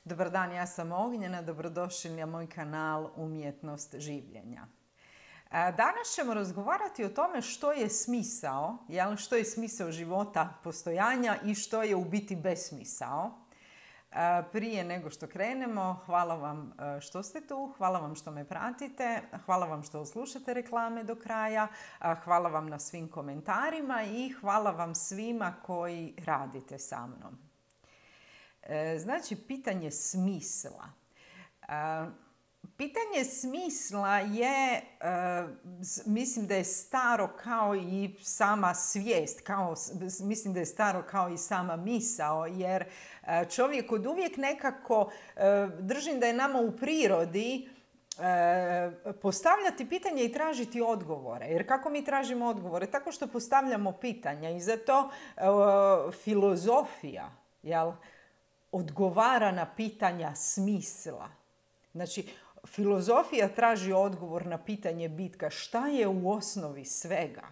Dobar dan, ja sam Ognjena, dobrodošli na moj kanal Umjetnost življenja. Danas ćemo razgovarati o tome što je smisao, što je smisao života, postojanja i što je u biti besmisao. Prije nego što krenemo, hvala vam što ste tu, hvala vam što me pratite, hvala vam što slušate reklame do kraja, hvala vam na svim komentarima i hvala vam svima koji radite sa mnom. Znači, pitanje smisla. Pitanje smisla je, mislim da je staro kao i sama svijest, mislim da je staro kao i sama misao, jer čovjek od uvijek nekako, držim da je nama u prirodi postavljati pitanje i tražiti odgovore. Jer kako mi tražimo odgovore? Tako što postavljamo pitanja i zato filozofija, odgovara na pitanja smisla. Znači, filozofija traži odgovor na pitanje bitka šta je u osnovi svega.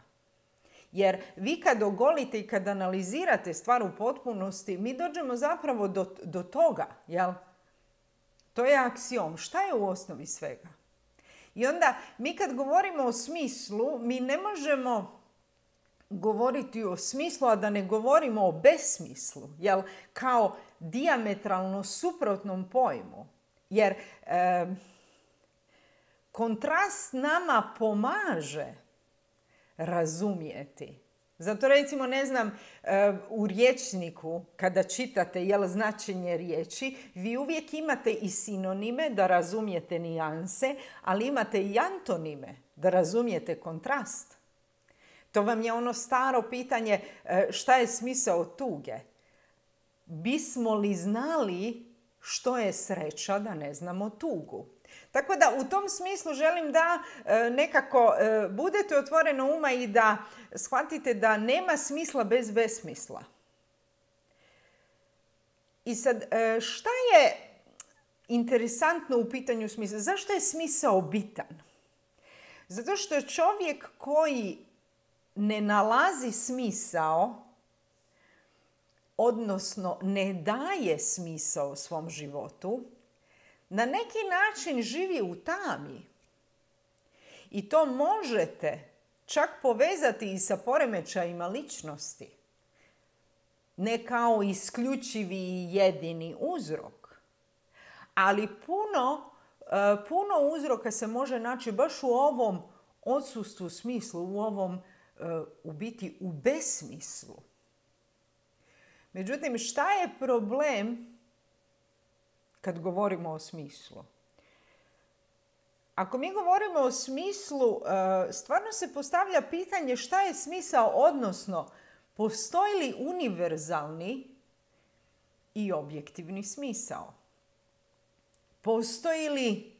Jer vi kad ogolite i kad analizirate stvar u potpunosti, mi dođemo zapravo do toga. To je aksiom. Šta je u osnovi svega? I onda mi kad govorimo o smislu, mi ne možemo govoriti o smislu, a da ne govorimo o besmislu, kao dijametralno suprotnom pojmu. Jer kontrast nama pomaže razumjeti. Zato recimo, u rječniku kada čitate značenje riječi, vi uvijek imate i sinonime da razumijete nijanse, ali imate i antonime da razumijete kontrast. To vam je ono staro pitanje šta je smisao tuge. Bismo li znali što je sreća da ne znamo tugu? Tako da u tom smislu želim da nekako budete otvoreno uma i da shvatite da nema smisla bez besmisla. I sad, šta je interesantno u pitanju smisla? Zašto je smisao bitan? Zato što čovjek koji ne nalazi smisao, odnosno ne daje smisao svom životu, na neki način živi u tami. I to možete čak povezati i sa poremećajima ličnosti. Ne kao isključivi i jedini uzrok. Ali puno uzroka se može naći baš u ovom odsustvu smislu, u ovom u biti u besmislu. Međutim, šta je problem kad govorimo o smislu? Ako mi govorimo o smislu, stvarno se postavlja pitanje šta je smisao, odnosno postoji li univerzalni i objektivni smisao? Postoji li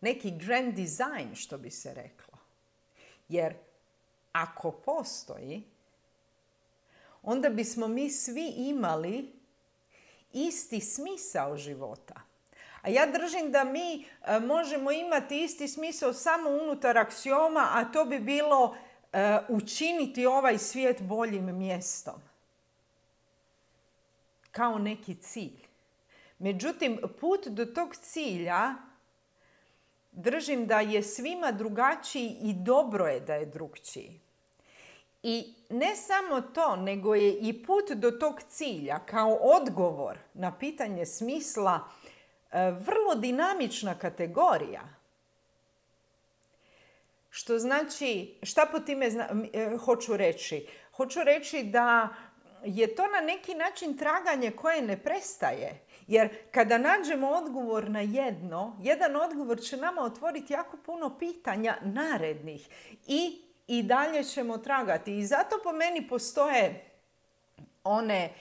neki grand design, što bi se reklo? Jer ako postoji, onda bismo mi svi imali isti smisao života. A ja držim da mi možemo imati isti smisao samo unutar aksioma, a to bi bilo učiniti ovaj svijet boljim mjestom. Kao neki cilj. Međutim, put do tog cilja držim da je svima drugačiji i dobro je da je drukčiji. I ne samo to, nego je i put do tog cilja kao odgovor na pitanje smisla vrlo dinamična kategorija. Što znači, šta po time hoću reći? Hoću reći da je to na neki način traganje koje ne prestaje. Jer kada nađemo odgovor na jedan odgovor će nama otvoriti jako puno pitanja narednih i dalje ćemo tragati. I zato po meni postoje one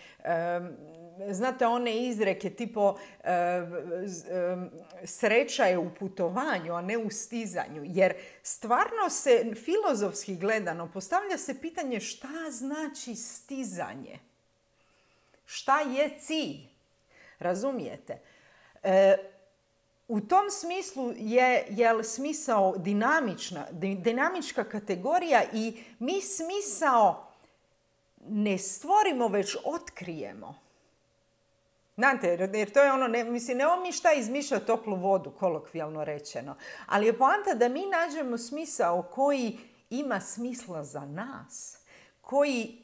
izreke tipo sreća je u putovanju, a ne u stizanju. Jer stvarno se filozofski gledano postavlja se pitanje šta znači stizanje? Šta je cilj? Razumijete? U tom smislu je smisao dinamička kategorija i mi smisao ne stvorimo, već otkrijemo. Znate, jer to je ono, nemamo mi šta izmišljati toplu vodu, kolokvijalno rečeno. Ali je poanta da mi nađemo smisao koji ima smisla za nas, koji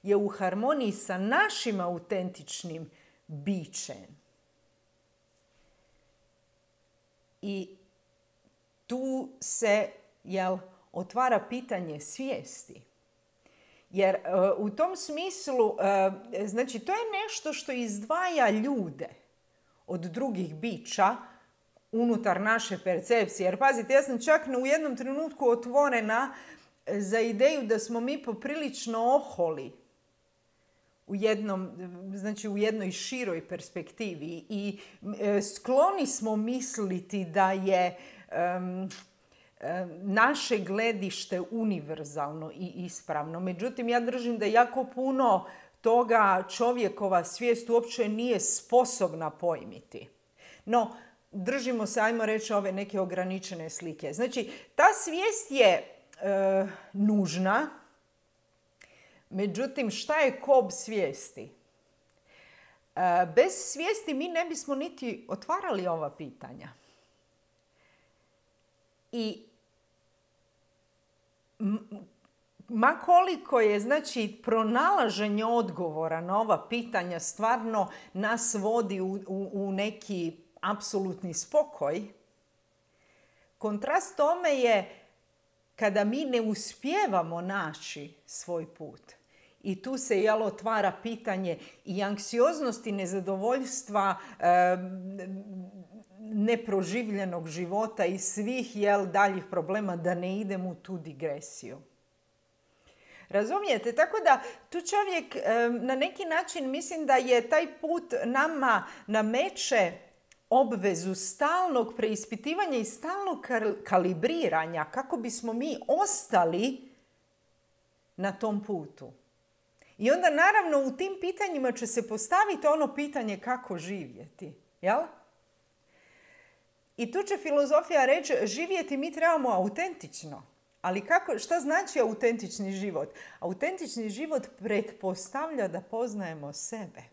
je u harmoniji sa našim autentičnim bićem. I tu se otvara pitanje svijesti. Jer u tom smislu, znači to je nešto što izdvaja ljude od drugih bića unutar naše percepcije. Jer pazite, ja sam čak u jednom trenutku otvorena za ideju da smo mi poprilično oholi u jednoj široj perspektivi i skloni smo misliti da je naše gledište univerzalno i ispravno. Međutim, ja držim da jako puno toga čovjekova svijest uopće nije sposobna pojmiti. No, držimo se, ajmo reći, ove neke ograničene slike. Znači, ta svijest je nužna, međutim, šta je kob svijesti? Bez svijesti mi ne bismo niti otvarali ova pitanja. I ma koliko je, znači, pronalaženje odgovora na ova pitanja stvarno nas vodi u neki apsolutni spokoj, kontrast tome je kada mi ne uspijevamo naći svoj put. I tu se otvara pitanje i anksioznosti, nezadovoljstva, neproživljenog života i svih daljih problema, da ne idem u tu digresiju. Razumijete? Tako da tu čovjek na neki način, mislim da je taj put nama nameće obvezu stalnog preispitivanja i stalnog kalibriranja kako bismo mi ostali na tom putu. I onda naravno u tim pitanjima će se postaviti ono pitanje kako živjeti. Jel? I tu će filozofija reći, živjeti mi trebamo autentično. Ali šta znači autentični život? Autentični život pretpostavlja da poznajemo sebe.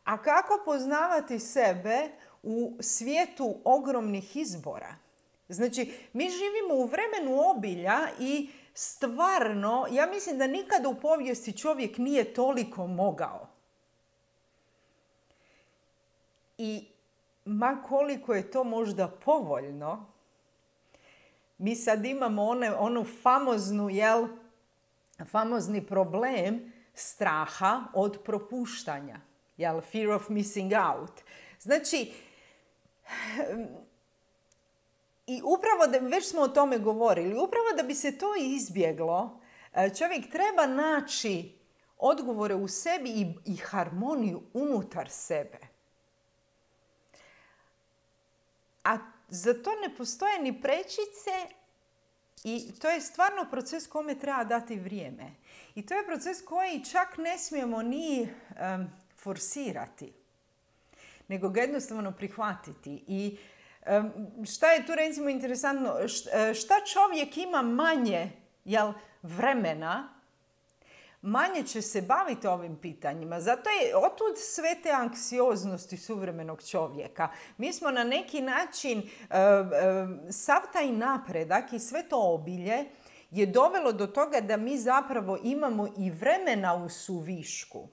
A kako poznavati sebe u svijetu ogromnih izbora? Znači, mi živimo u vremenu obilja i stvarno, ja mislim da nikada u povijesti čovjek nije toliko mogao. I ma koliko je to možda povoljno, mi sad imamo onu famozni problem straha od propuštanja. Fear of missing out. Znači, i upravo, već smo o tome govorili, upravo da bi se to izbjeglo, čovjek treba naći odgovore u sebi i harmoniju unutar sebe. A za to ne postoje ni prečice i to je stvarno proces kome treba dati vrijeme. I to je proces koji čak ne smijemo ni forsirati, nego ga jednostavno prihvatiti. I šta je tu recimo interesantno? Šta čovjek ima manje vremena, manje će se baviti ovim pitanjima. Zato je otud sve te anksioznosti suvremenog čovjeka. Mi smo na neki način, sav taj napredak i sve to obilje je dovelo do toga da mi zapravo imamo i vremena u suvišku.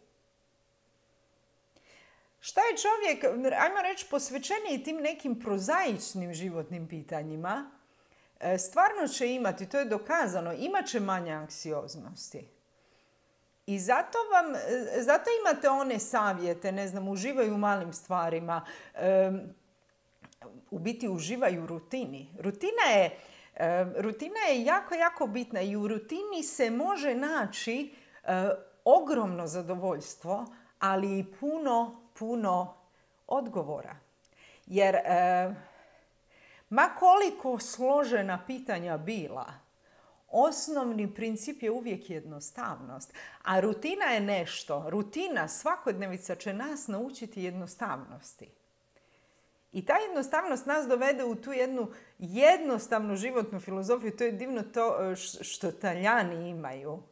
Šta je čovjek, ajmo reći, posvećeniji tim nekim prozaičnim životnim pitanjima, stvarno će imati, to je dokazano, imat će manje anksioznosti. I zato imate one savjete, uživaju u malim stvarima, u biti uživaju u rutini. Rutina je jako, jako bitna i u rutini se može naći ogromno zadovoljstvo, ali i puno odgovora. Jer ma koliko složena pitanja bila, osnovni princip je uvijek jednostavnost. A rutina je nešto. Rutina, svakodnevica će nas naučiti jednostavnosti. I ta jednostavnost nas dovede u tu jednu jednostavnu životnu filozofiju. To je divno to što Talijani imaju.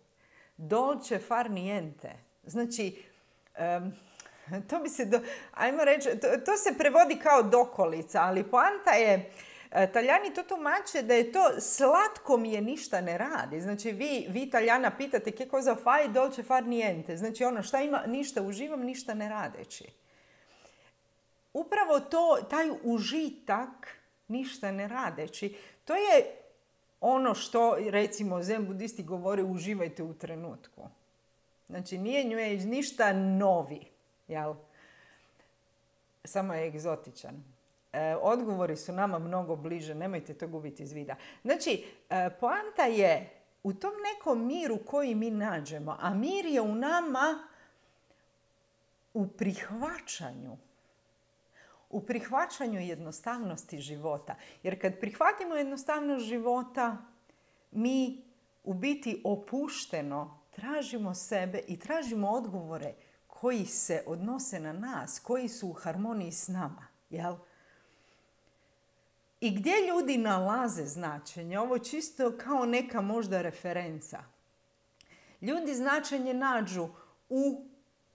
Dolce far niente. Znači, To bi se, ajmo reći, to se prevodi kao dokolica, ali poanta je, Talijani to tumače da je to slatko mi je ništa ne radi. Znači vi Talijana pitate che cosa fai dolce far niente. Znači ono šta ima, ništa uživam, ništa ne radeći. Upravo taj užitak, ništa ne radeći, to je ono što, recimo, zen budisti govore uživajte u trenutku. Znači nije New Age ništa novi, jel? Samo je egzotičan. Odgovori su nama mnogo bliže, nemojte to gubiti iz vida. Znači, poanta je u tom nekom miru koji mi nađemo, a mir je u nama u prihvaćanju jednostavnosti života. Jer kad prihvatimo jednostavnost života, mi u biti opušteno tražimo sebe i tražimo odgovore koji se odnose na nas, koji su u harmoniji s nama, jel? I gdje ljudi nalaze značenje? Ovo je čisto kao neka možda referenca. Ljudi značenje nađu u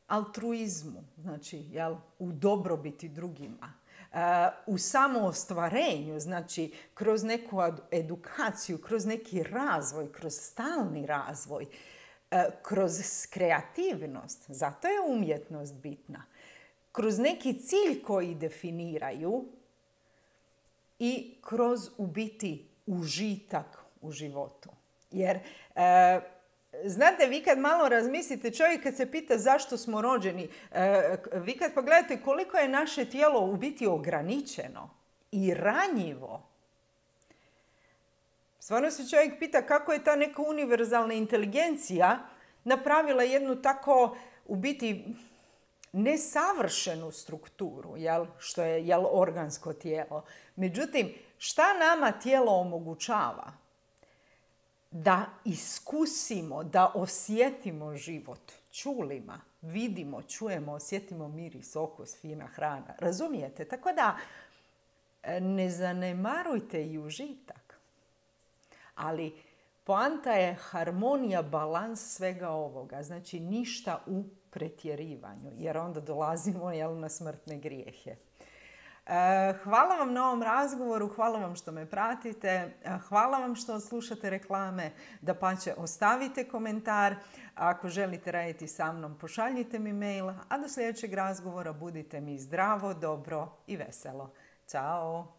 altruizmu, znači jel, u dobrobiti drugima, u samoostvarenju, znači kroz neku edukaciju, kroz neki razvoj, kroz stalni razvoj, kroz kreativnost, zato je umjetnost bitna, kroz neki cilj koji definiraju i kroz u biti užitak u životu. Jer znate, vi kad malo razmislite, čovjek kad se pita zašto smo rođeni, vi kad pogledate koliko je naše tijelo u biti ograničeno i ranjivo, stvarno se čovjek pita kako je ta neka univerzalna inteligencija napravila jednu tako u biti nesavršenu strukturu, jel, što je jel, organsko tijelo. Međutim, šta nama tijelo omogućava? Da iskusimo, da osjetimo život čulima, vidimo, čujemo, osjetimo miris, okus, fina hrana. Razumijete? Tako da ne zanemarujte i užitak. Ali poanta je harmonija, balans svega ovoga. Znači ništa u pretjerivanju, jer onda dolazimo jel, na smrtne grijehe. Hvala vam na ovom razgovoru, hvala vam što me pratite, hvala vam što slušate reklame, dapače ostavite komentar, ako želite raditi sa mnom pošaljite mi mail, a do sljedećeg razgovora budite mi zdravo, dobro i veselo. Ćao!